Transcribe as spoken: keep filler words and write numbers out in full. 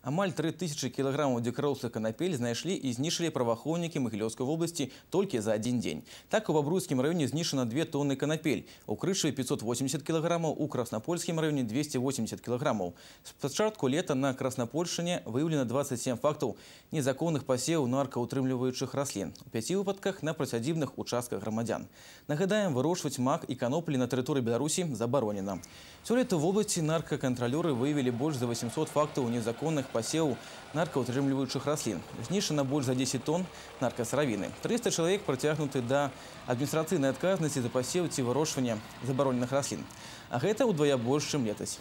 Амаль тры тысячи килограммов дикарослых канапель знайшлі и знішчылі праваахоўнікі Магілёўскай области только за один день. Так, у Бобруйском районе знішчана две тонны канапель, у Крышеве пятьсот восемьдесят килограммов, у Краснопольском районе двести восемьдесят килограммов. С початку лета на Краснопольшчыне выявлено двадцать семь фактов незаконных посевов наркоутрымліваючых раслин. У пяти выпадках на прысядзібных участках громадян. Нагадаем, вырощивать мак и каноплі на территории Беларуси заборонено. Сёлета в области наркоконтролеры выявили больше за восемьсот фактов незаконных посевов наркоутрымліваючих раслин. Знішчана больше за десять тонн наркосыравіны. триста человек притягнуты до административной отказности за посев ці вырошчвання забароненых раслин. А это удвая больше, чем летась.